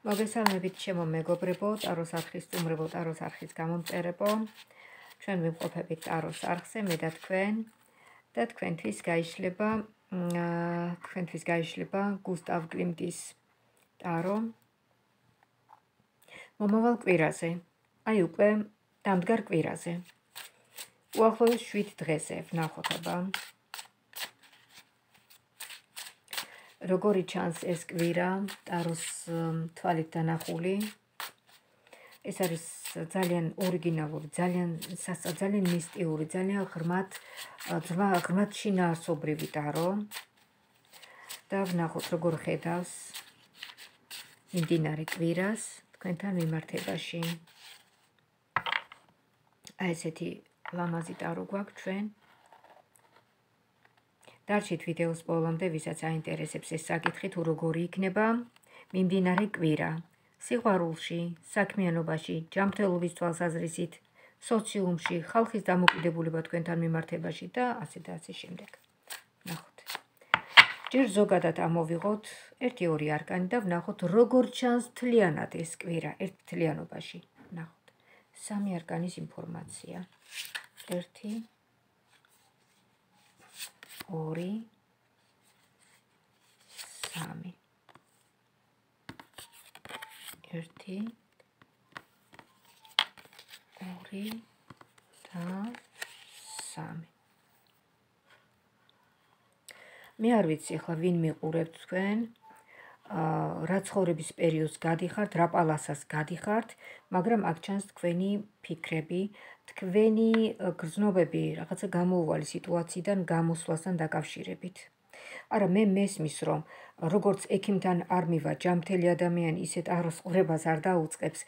მოგესალმებით ჩემო მეგობრებო, ტაროს არხის სტუმრებო, ტაროს არხის გამომწერებო. ჩვენ ვიმყოფებით ტაროს არხზე, მე და თქვენ და თქვენთვის გაიშლება გუსტავ კლიმტის ტარო მომავალ კვირაზე. აი უკვე დამდგარ კვირაზე. უახლოეს 7 დღეზე ვნახოთ აბა. როგორი ჩანს ეს კვირა ტაროს თვალით დანახული. ეს არის ძალიან ორიგინალური, ძალიან მისტიური, ძალიან ღრმად შინაარსობრივი ტარო. და ვნახოთ როგორ ხედავს მიმდინარე კვირას თქვენთან მიმართებაში. აი ესეთი ლამაზი ტარო გვაქვს ჩვენ. დარჩით ვიდეოს ბოლომდე, ვისაც აინტერესებს ეს საკითხი, თუ როგორი იქნება მიმდინარე კვირა. სიყვარულში, საქმიანობაში, ჯანმრთელობის თვალსაზრისით, სოციუმში, ხალხის დამოკიდებულება თქვენთან მიმართებაში და ასე შემდეგ. ნახოთ. ჯერ ზოგადად ამოვიღოთ 1-2 არკანი და ვნახოთ როგორ ჩანს მთლიანად ეს კვირა ერთთლიანობაში. ნახოთ. 3 არკანის ინფორმაცია. 1 2 3 1 2 და 3 მე არ ვიცი ახლა ვინ მიყურებთ თქვენ რა ცხოვრების პერიოდს გადიხართ, რა პალასას გადიხართ, მაგრამ აქ ჩანს თქვენი ფიქრები, თქვენი გრძნობები რაღაცა გამოუვალი სიტუაციიდან გამოსვლასთან დაკავშირებით. არა, მე მესმის, რომ როგორც ექიმთან არ მივა ჯანმრთელი ადამიანი, ისე ტაროს ყურებას არ დაუწყებს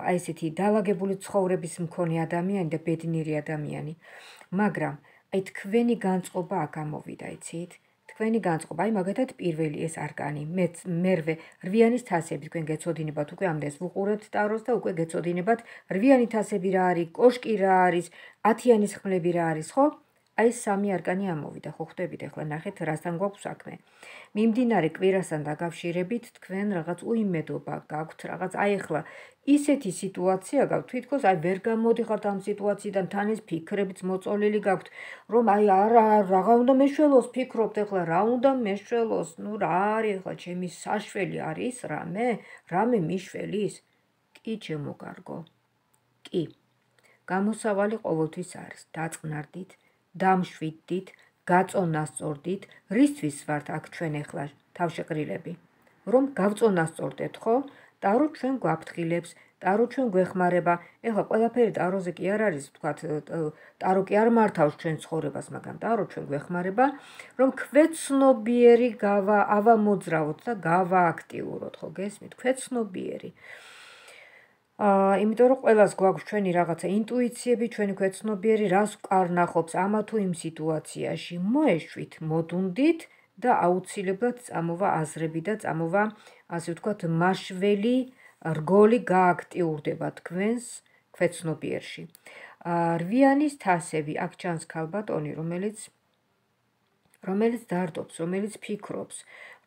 აი ესეთი დაალაგებული ცხოვრების მქონე ადამიანი და ბედნიერი ადამიანი. მაგრამ აი თქვენი განწყობა აქ ამოვიდა, იცით? თქვენი განწყობა, აი მაგათად პირველი ეს არკანი, მერვე რვიანის თასები, თქვენ გეცოდინებათ უკვე ამდენს ვუყურებთ ტაროს და უკვე გეცოდინებათ რვიანი თასები რა არის, კოშკი რა არის, 10-იანის ხმლები რა არის, ხო? აი 3 არკანი ამოვიდა, ხო ხვდებით, ახლა ნახეთ რასთან გვაქვს საქმე. მიმდინარე კვირასთან დაკავშირებით თქვენ რაღაც უიმედობა გაქვთ, რაღაც აი ახლა ისეთი სიტუაცია გაქვთ, თითქოს აი ვერ გამოდიხართ ამ სიტუაციიდან, თან ეს ფიქრებიც მოწოლილი გაქვთ, რომ აი რაღა უნდა მეშველოს, ფიქრობთ ახლა რა უნდა მეშველოს, ნუ რა არის ახლა ჩემი საშველი არის რამე მიშველის? კი ჩემო კარგო. კი. გამოსავალი ყოველთვის არის, დაწყნარდით, დამშვიდდით, გაწონასწორდით, რისთვის ვართ აქ ჩვენ ახლა თავშეყრილები? რომ გავწონასწორდეთ, ხო? ტარო ჩვენ გვაფრთხილებს, ტარო ჩვენ გვეხმარება. ეხლა ყველაფერი ტაროზე კი არ არის, ვთქვათ, ტარო კი არ მართავს ჩვენ ცხოვრებას, მაგრამ ტარო ჩვენ გვეხმარება, რომ ქვეცნობიერი ავამოძრავოთ და გავააქტიუროთ, ხო გესმით? ქვეცნობიერი. იმიტომ რომ ყველას გვაქვს ჩვენი რაღაცა ინტუიციები, ჩვენი ქვეცნობიერი, რას ვკარნახობს ამა თუ იმ სიტუაციაში, მოეშვით, მოდუნდით და აუცილებლად წამოვა აზრები და წამოვა, ასე ვთქვათ, მაშველი რგოლი გააქტიურდება თქვენს ქვეცნობიერში. რვიანის თასები, აქ ჩანს ქალბატონი, რომელიც დარდობს, რომელიც ფიქრობს,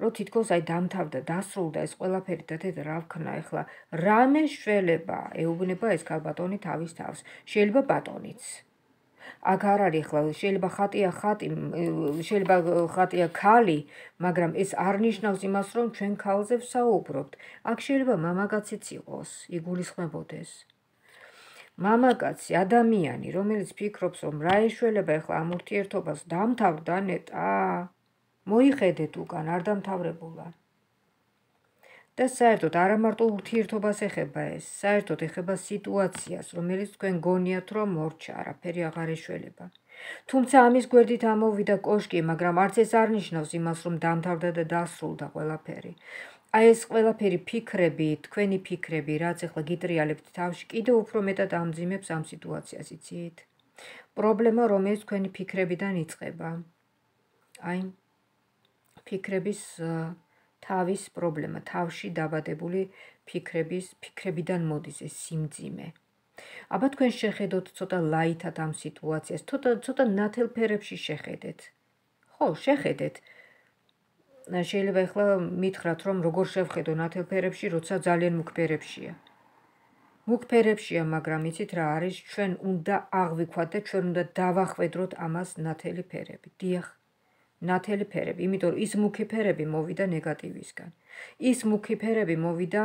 რომ თითქოს აი დამთავრდა, დასრულდა ეს ყველაფერი და დედა რა ვქნა ახლა, რამე შველება ეუბნება ეს ქალბატონი თავის თავს, შეიძლება ბატონიც. აქ არ არის ახლა, შეიძლება ხატია ხალი, მაგრამ ეს არ ნიშნავს იმას, რომ ჩვენ ქალზე ვსაუბრობთ. აქ შეიძლება მამაკაციც იყოს, იგულისხმებოდეს. მამაკაცი ადამიანი, რომელიც ფიქრობს, რომ რა ეშველება ახლა ამ ურთიერთობას, დამთავრდა ნეტა, მოიხედეთ უკან, არ დამთავრებულა. და საერთოდ არა მარტო ურთიერთობას ეხება ეს, საერთოდ ეხება სიტუაციას, რომელიც თქვენ გონიათ, რომ მორჩა, არაფერი აღარ ეშველება. თუმცა ამის გვერდით ამოვიდა კოშკი, მაგრამ არც ეს არ ნიშნავს იმას, რომ დამთავრდა და დასრულდა ყველაფერი. აი ეს ყველაფერი ფიქრები, თქვენი ფიქრები, რაც ახლა გიტრიალებთ თავში, კიდევ უფრო მეტად ამძიმებს ამ სიტუაციას, იცით? პრობლემა, რომელიც თქვენი ფიქრებიდან იწყება. აი, ფიქრების თავის პრობლემა, თავში დაბადებული ფიქრებიდან მოდის ეს სიმძიმე. აბა თქვენ შეხედოთ ცოტა ლაითად ამ სიტუაციას, ცოტა ნათელ ფერებში შეხედეთ. ხო, შეხედეთ. შეიძლება ახლა მითხრათ, რომ როგორ შევხედო ნათელ ფერებში, როცა ძალიან მუქ ფერებშია. მუქ ფერებშია, მაგრამ იცით რა არის, ჩვენ უნდა აღვიქვათ და ჩვენ უნდა დავახვედროთ ამას ნათელი ფერები. დიახ, ნათელი ფერები, იმიტომ რომ ის მუქი ფერები მოვიდა ნეგატივისგან. ის მუქი ფერები მოვიდა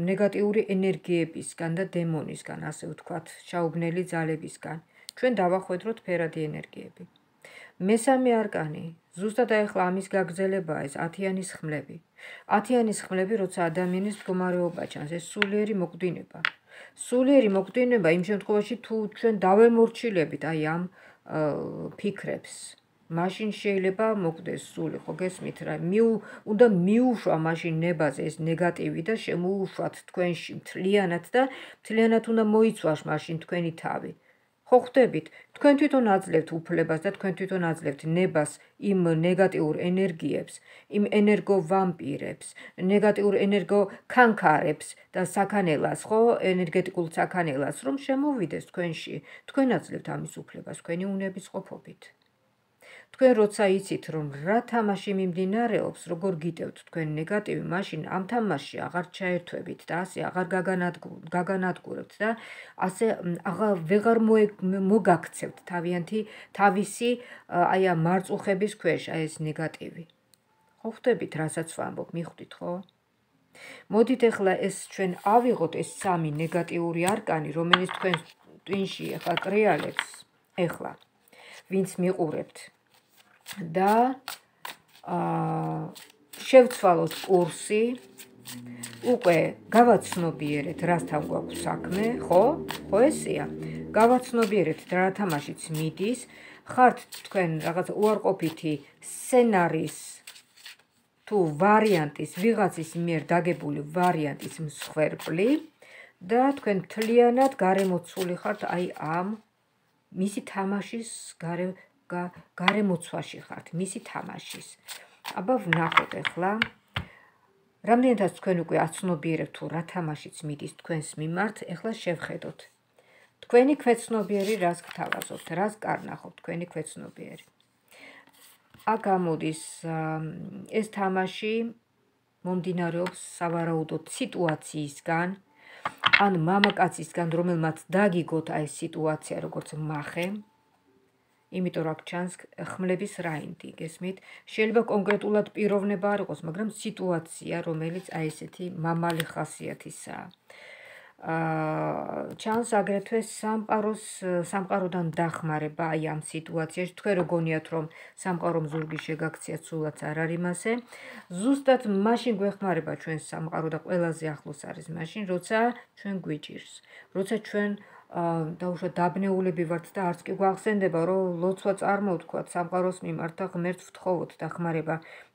ნეგატიური ენერგიებისგან და დემონისგან, ასე ვთქვათ, ჩაუგნელი ძალებისგან. ჩვენ დავახვედროთ ფერადი ენერგიები. მესამე არკანი, ზუსტად ახლა ამის გაგრძელებაა ეს 10-იანის ხმლები. 10-იანის ხმლები, როცა ადამიანის მდგომარეობა ჩანს, ეს სულიერი მოკვდინება. სულიერი მოკვდინება იმ შემთხვევაში, თუ ჩვენ დავემორჩილებით აი ამ ფიქრებს. მაშინ შეიძლება მოკვდეს სული, ხო გესმით რა? უნდა მიუშვა მაშინ ნებაზე ეს ნეგატივი და შემოუშვათ თქვენში მთლიანად და მთლიანად უნდა მოიცვას მაშინ თქვენი თავი. ხო ხვდებით, თქვენ თვითონ აძლევთ უფლებას და თქვენ თვითონ აძლევთ ნებას იმ ნეგატიურ ენერგიებს, იმ ენერგოვამპირებს, ნეგატიურ ენერგოქანქარებს და საქანელას, ხო, ენერგეტიკულ საქანელას, რომ შემოვიდეს თქვენში. თქვენ აძლევთ ამის უფლებას თქვენი უნების ყოფობით. თქვენ როცა იცით, რომ რა თამაში მიმდინარეობს, როგორ გიტევთ თქვენ ნეგატივი, მაშინ ამ თამაშში აღარ ჩაერთვებით და ასე აღარ გაგანადგურებთ და ასე ვეღარ მოგაქცევთ თავისი აი ამ მარწუხების ქვეშ აი ეს ნეგატივი. ხო ხვდებით, რასაც ვამბობ, მიხვდით, ხო? მოდით ახლა ეს ჩვენ ავიღოთ ეს 3 ნეგატიური არკანი, რომელიც თქვენ ტვინში ახლა კრიალებს, ახლა ვინც მიყურებთ. და შევცვალოთ კურსი, უკვე გავაცნობიერეთ, რასთან გვაქვს საქმე, ხო? ხო ესეა? გავაცნობიერეთ რა თამაშიც მიდის, ხართ თქვენ რაღაც უარყოფითი სცენარის თუ ვარიანტის, ვიღაცის მიერ დაგებული ვარიანტის მსხვერპლი და თქვენ მთლიანად გარემოცული ხართ აი ამ მისი თამაშის გარემოცვაში ხართ, მისი თამაშის. აბა ვნახოთ ახლა, რამდენადაც თქვენ უკვე აცნობიერებთ თუ რა თამაშიც მიდის თქვენს მიმართ, ახლა შევხედოთ. თქვენი ქვეცნობიერი რას გთავაზობთ, რას კარნახობთ თქვენი ქვეცნობიერი. აქ გამოდის ეს თამაში მომდინარეობს სავარაუდოდ სიტუაციისგან, ან მამაკაცისგან, რომელმაც დაგიგოთ აი ეს სიტუაცია როგორც მახე. იმიტომ რომ აქ ჩანს ხმლების რაინდი, გესმით? შეიძლება კონკრეტულად პიროვნება არ იყოს, მაგრამ სიტუაცია, რომელიც აი ესეთი მამალი ხასიათისაა. ჩანს აგრეთვე სამყაროდან დახმარება აი ამ სიტუაციაში. თქვენ რო გონიათ, რომ სამყარომ ზურგი შეგაქციათ, სულაც არ არის მასე. ზუსტად მაშინ გვეხმარება ჩვენს სამყარო და ყველაზე ახლოს არის მაშინ, როცა ჩვენ გვიჭირს, როცა ჩვენ დაუშვათ დაბნეულები ვართ და არც კი გვახსენდება, რომ ლოცვა წარმოვთქვათ სამყაროს მიმართ და ღმერთს ვთხოვოთ დახმარება,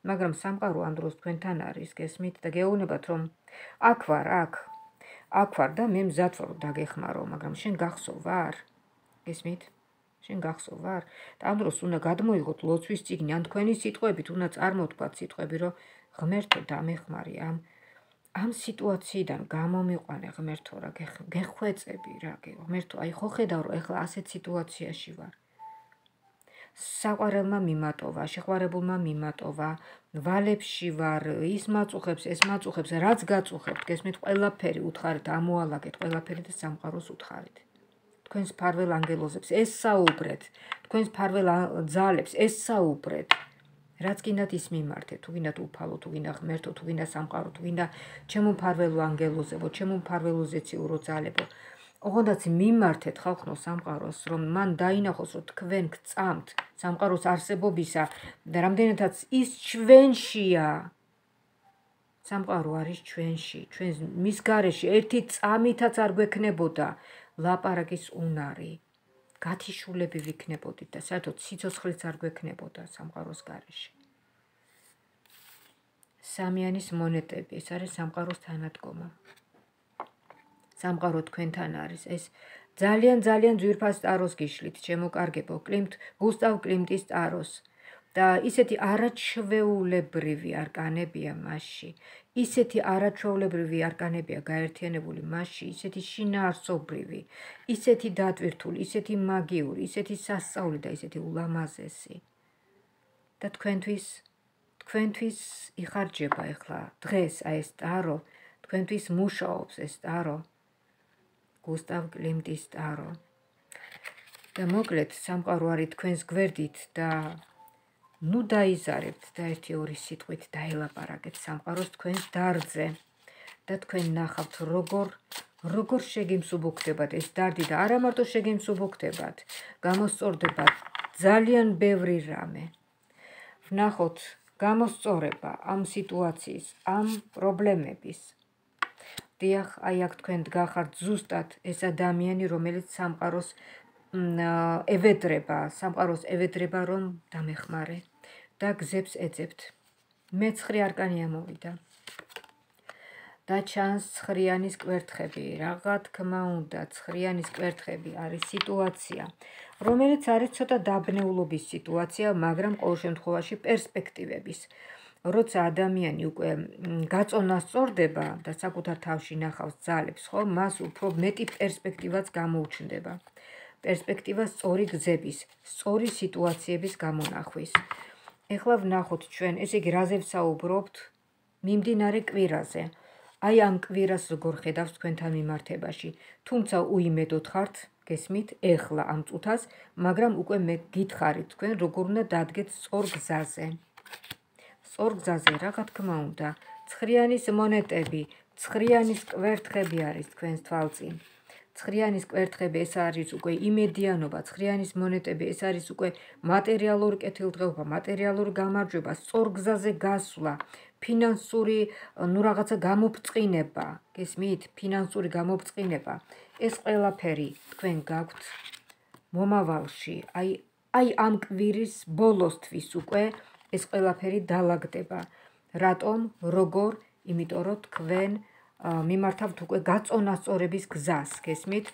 მაგრამ სამყარო ამ დროს თქვენთან არის, გესმით? და გეუბნებათ, რომ აქ ვარ და მე მზად ვარ დაგეხმარო, მაგრამ შენ გახსოვ ვარ? გესმით? შენ გახსოვ ვარ? და ამ დროს უნდა გადმოიღოთ ლოცვის წიგნი, ან თქვენი სიტყვებით უნდა წარმოვთქვათ სიტყვები, რომ ღმერთო დამეხმარი ამ სიტუაციიდან გამომიყვანე ღმერთო რა გეხვეწები რა ღმერთო აი ხო ხედავ რომ ეხლა ასეთ სიტუაციაში ვარ საყვარელმა მიმატოვა შეყვარებულმა მიმატოვა ვალებში ვარ ის მაწუხებს ეს მაწუხებს რაც გაწუხებთ გესმით ყველაფერი უთხარით ამოალაგეთ ყველაფერი და სამყაროს უთხარით თქვენს ფარველ ანგელოზებს ესაუბრეთ თქვენს ფარველ ძალებს ესაუბრეთ რაც გინდათ ის მიმართეთ, თუ გინდათ უფალო, თუ გინდა ღმერთო, თუ გინდა სამყარო, თუ გინდა ჩემო მფარველო ანგელოზებო, ჩემო მფარველო ზეციურო ძალებო. ოღონდაც მიმართეთ ხალხო სამყაროს, რომ მან დაინახოს, რომ თქვენ გწამთ სამყაროს არსებობისა და რამდენადაც ის ჩვენშია. სამყარო არის ჩვენში, ჩვენ მის გარეშე ერთი წამითაც არ გვექნებოდა ლაპარაკის უნარი. გათიშულები ვიქნებოდით და საერთოდ სიცოცხლეც არ გვექნებოდა სამყაროს გარეშე. სამიანის მონეტები, ეს არის სამყაროს თანადგომა. სამყარო თქვენთან არის, ეს ძალიან ძვირფას ტაროს გიშლით, შემოკარგებო, გუსტავ კლიმტის ტაროს. და ისეთი არაჩვეულებრივი არკანებია მასში. ისეთი არაჩვეულებრივი არკანებია გაერთიანებული მასში, ისეთი შინაარსობრივი, ისეთი დატვირთული, ისეთი მაგიური, ისეთი სასწაული და ისეთი ულამაზესი. და თქვენთვის თქვენთვის იხარჯება ეხლა დღეს აი ეს ტარო, თქვენთვის მუშაობს ეს ტარო, გუსტავ კლიმტის ტარო. და მოკლედ სამყარო არის თქვენს გვერდით და ნუ დაიზარებთ და 1-2 სიტყვით დაელაპარაკეთ სამყაროს თქვენს დარდზე და თქვენ ნახავთ როგორ შეგიმსუბუქდებათ ეს დარდი და არა მარტო შეგიმსუბუქდებათ, გამოსწორდებათ ძალიან ბევრი რამე. ვნახოთ გამოსწორება ამ სიტუაციის, ამ პრობლემების. დიახ, აი აქ თქვენ დგახართ ზუსტად ეს ადამიანი, რომელიც სამყაროს ევედრება, რომ დამეხმარე და გზებს ეძებთ. მე-9 არკანი ამოვიდა. და ჩანს ცხრიანის კვერთხები, რა თქმა უნდა, ცხრიანის კვერთხები არის სიტუაცია, რომელიც არის ცოტა დაბნეულობის სიტუაცია, მაგრამ ყოველ შემთხვევაში პერსპექტივების. როცა ადამიანი უკვე გაწონას სწორდება და საკუთარ თავში ნახავს ძალებს, ხო, მას უფრო მეტი პერსპექტივაც გამოუჩნდება. პერსპექტივა სწორი გზების, სწორი სიტუაციების გამონახვის. ეხლა ვნახოთ ჩვენ, ესე იგი, რაზე ვსაუბრობთ? მიმდინარე კვირაზე. აი ამ კვირას როგორ ხედავს თქვენთან მიმართებაში. თუმცა უიმედოდ ხართ, გესმით, ეხლა ამ წუთას, მაგრამ უკვე მე გითხარით თქვენ, როგორ უნდა დადგეთ სწორ გზაზე. სწორ გზაზე, რა თქმა უნდა, ცხრიანის მონეტები, ცხრიანის კვერთხები არის თქვენს თვალწინ. ცხრიანის კვერთხები ეს არის უკვე იმედიანობა, ცხრიანის მონეტები ეს არის უკვე მატერიალური კეთილდღეობა, მატერიალური გამარჯვება, სწორ გზაზე გასვლა, ფინანსური, რაღაცა გამოფწყინება, გესმით? ფინანსური გამოფწყინება. ეს ყველაფერი თქვენ გაქვთ მომავალში, აი ამ კვირის ბოლოსთვის უკვე ეს ყველაფერი დალაგდება. რატომ? როგორ? იმიტომ რომ თქვენ მიმართავთ უკვე გაწონასწორების გზას, გესმით?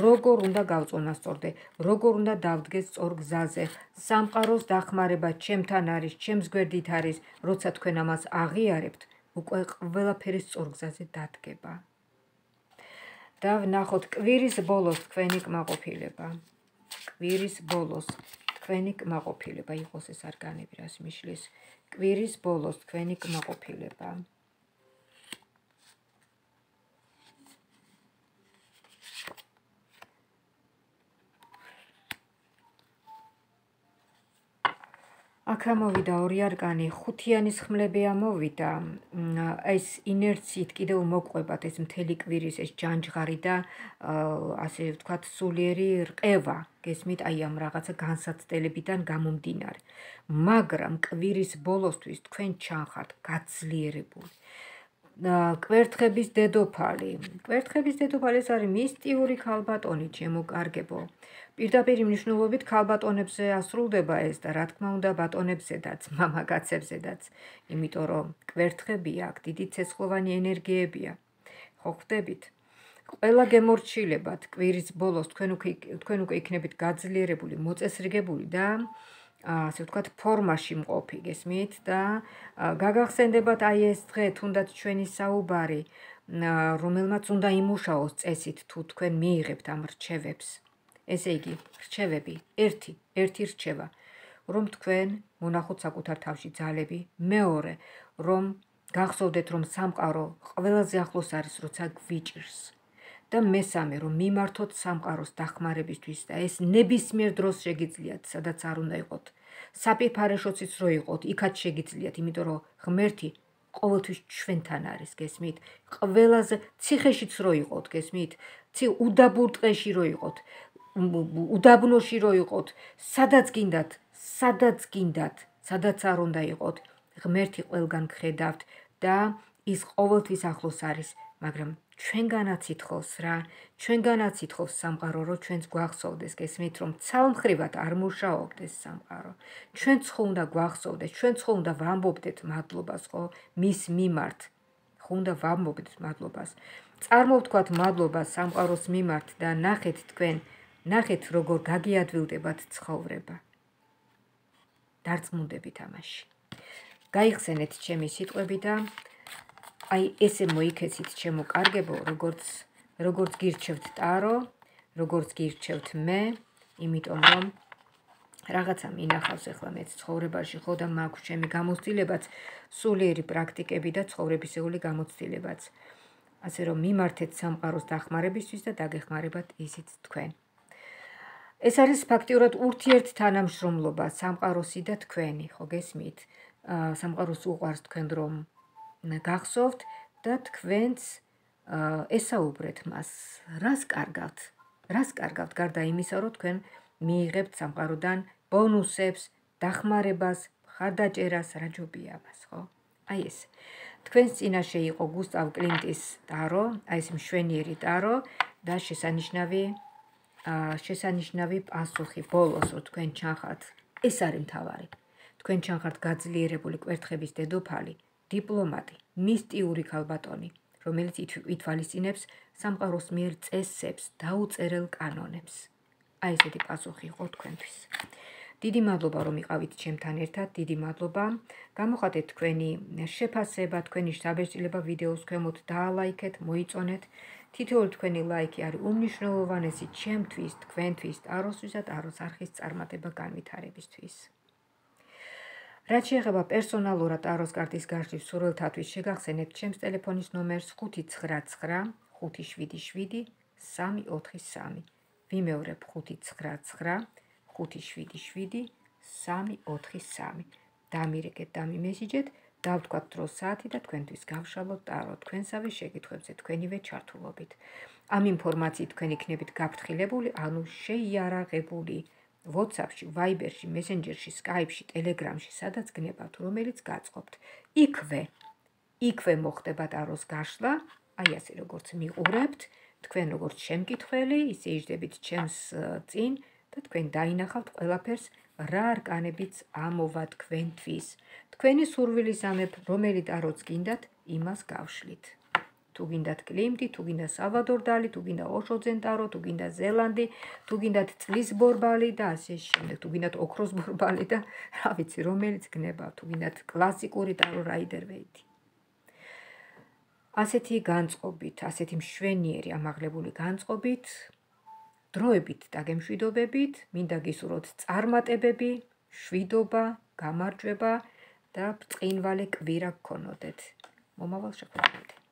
როგორ უნდა გავწონასწორდე, როგორ უნდა დავდგეთ სწორ გზაზე. სამყაროს დახმარება ჩემთან არის, ჩემს გვერდით არის, როცა თქვენ ამას აღიარებთ, უკვე ყველაფერი სწორ გზაზე დადგება. და ვნახოთ კვირის ბოლოს თქვენი კმაყოფილება. კვირის ბოლოს თქვენი კმაყოფილება იყოს ეს არკანები, რას მიშლის. კვირის ბოლოს თქვენი კმაყოფილება. აქ ამოვიდა 2 არკანი, ხუთიანის ხმლები ამოვიდა. ეს ინერციით კიდევ მოგყვებათ ეს მთელი კვირის ეს ჯანჯღარი და ასე ვთქვათ სულიერი რყევა, გესმით, აი ამ რაღაცა განსაცდელებიდან გამომდინარე. მაგრამ კვირის ბოლოსთვის თქვენ ჩანხართ გაძლიერებული. კვერთხების დედოფალი. კვერთხების დედოფალი ეს არის მისტიური ქალბატონი, ჩემო კარგებო. პირდაპირ მნიშვნელობით ქალბატონებზე ასრულდება ეს და რა თქმა უნდა ბატონებზედაც, მამაკაცებზედაც, იმიტომ რომ კვერთხები აქ დიდი ცეცხლოვანი ენერგიებია. ხო ხვდებით? ყველა გემორჩილებათ კვირის ბოლოს თქვენ უკვე იქნებით გაძლიერებული, მოწესრიგებული და ასე ვთქვათ ფორმაში მყოფი, გესმით? და გაგახსენდებათ აი ეს დღე, თუნდაც ჩვენი საუბარი, რომელმაც უნდა იმუშაოს წესით თუ თქვენ მიიღებთ ამ რჩევებს. ესე იგი, რჩევები, ერთი რჩევა, რომ თქვენ მონახოთ საკუთარ თავში ძალები, მეორე, რომ გახსოვდეთ, რომ სამყარო ყველაზე ახლოს არის, როცა გვიჭირს. და მესამე, რომ მიმართოთ სამყაროს დახმარებისთვის და ეს ნებისმიერ დროს შეგიძლიათ, სადაც არ უნდა იყოთ. საფიფარეშოციც რო იყოთ, იქაც შეგიძლიათ, იმიტომ რომ ღმერთი ყოველთვის ჩვენთან არის, გესმით? ყველაზე ციხეშიც რო იყოთ, გესმით? უდაბურ ტყეში რო იყოთ, უდაბნოში რო იყოთ, სადაც გინდათ, სადაც არ უნდა იყოთ, ღმერთი ყველგან გხედავთ და ის ყოველთვის ახლოს არის, მაგრამ ჩვენგანაც ითხოვს რა, ჩვენგანაც ითხოვს სამყარო, რომ ჩვენც გვახსოვდეს, გესმით, რომ ცალმხრივად არ მუშაობდეს სამყარო. ჩვენც ხო უნდა გვახსოვდეს, ჩვენც ხო უნდა ვამბობდეთ მადლობას, ხო, მის მიმართ. ხო უნდა ვამბობდეთ მადლობას. წარმოვთქვათ მადლობას სამყაროს მიმართ და ნახეთ თქვენ, ნახეთ როგორ გაგიადვილდებათ ცხოვრება. დარწმუნდებით ამაში. გაიხსენეთ ჩემი სიტყვები და აი ესე მოიქეცით ჩემო კარგებო, როგორც გირჩევთ ტარო, როგორც გირჩევთ მე, იმიტომ რომ რაღაცა მინახავს ახლა მეც ცხოვრებაში ხო და მაქვს ჩემი გამოცდილებაც, სულიერი პრაქტიკები და ცხოვრებისეული გამოცდილებაც. ასე რომ მიმართეთ სამყაროს დახმარებისთვის და დაგეხმარებათ ისიც თქვენ. ეს არის ფაქტიურად ურთიერთთანამშრომლობა სამყაროსი და თქვენი, ხო გესმით? სამყაროს უყვარს თქვენ რომ გახსოვთ და თქვენც ესაუბრეთ მას, რას კარგავთ გარდა იმისა, რომ თქვენ მიიღებთ სამყაროდან ბონუსებს, დახმარებას, მხარდაჭერას, რა ჯობია მას, ხო? აი ეს. თქვენს წინაშე იყო გუსტავ კლინტის ტარო, აი ეს მშვენიერი ტარო და შესანიშნავი პასუხი ბოლოს, რომ თქვენ ჩანხართ, ეს არის მთავარი. თქვენ ჩანხართ გაძლიერებული კვერთხების დედოფალი, დიპლომატი, მისტიური ქალბატონი, რომელიც ითვალისწინებს სამყაროს მიერ წესებს, დაუწერელ კანონებს. აი ესეთი პასუხი იყო თქვენთვის. დიდი მადლობა რომ იყავით ჩემთან ერთად, დიდი მადლობა. გამოხატეთ თქვენი შეფასება, თქვენი საბეჭდილება ვიდეოს ქვემოთ, დაალაიქეთ, მოიწონეთ. თითოეული თქვენი ლაიქი არის უმნიშვნელოვანესი ჩემთვის, თქვენთვის, ტაროსთვის და ტაროს არხის წარმატება განვითარებისთვის. რაც შეეხება პერსონალურად ტაროს კარტის გარშვის სურვილთათვის შეგახსენებთ ჩემს ტელეფონის ნომერს 599 577 343. ვიმეორებ 599 577 343. დამირეკეთ, დამიმესიჯეთ, დავთქვათ დროს საათი და თქვენთვის გავშალოთ ტარო თქვენსავე შეკითხვებზე თქვენივე ჩართულობით. ამ ინფორმაციით თქვენ იქნებით გაფრთხილებული, ანუ შეიარაღებული WhatsApp-ში, Viber-ში, Messenger-ში, Skype-ში, Telegram-ში, სადაც გნებავთ, რომელიც გაწყობთ. იქვე მოხდება ტაროს გაშლა, აი ასე როგორც მიყურებთ, თქვენ როგორც შემკითხველი, ისე იჯდებით ჩემს წინ და თქვენ დაინახავთ ყველაფერს, რა არკანებიც ამოვა თქვენთვის. თქვენი სურვილისამებრ, რომელი ტაროც გინდათ, იმას გავშლით. თუ გინდათ კლიმტი, თუ გინდა სალვადორ დალი, თუ გინდა ოშო ზენტარო, თუ გინდა ზელანდი, თუ გინდათ წლის ბორბალი და ასე შემდეგ, თუ გინდათ ოქროს ბორბალი და რა ვიცი, რომელიც გნებავთ, თუ გინდათ კლასიკური ტარო რაიდერ ვეითი. ასეთი განწყობით, ასეთი მშვენიერი ამაღლებული განწყობით, დროებით დაგემშვიდობებით, მინდა გისურვოთ წარმატებები, შვიდობა, გამარჯვება და ბრწყინვალე კვირა გქონოდეთ. მომავალ შეხვედრამდე.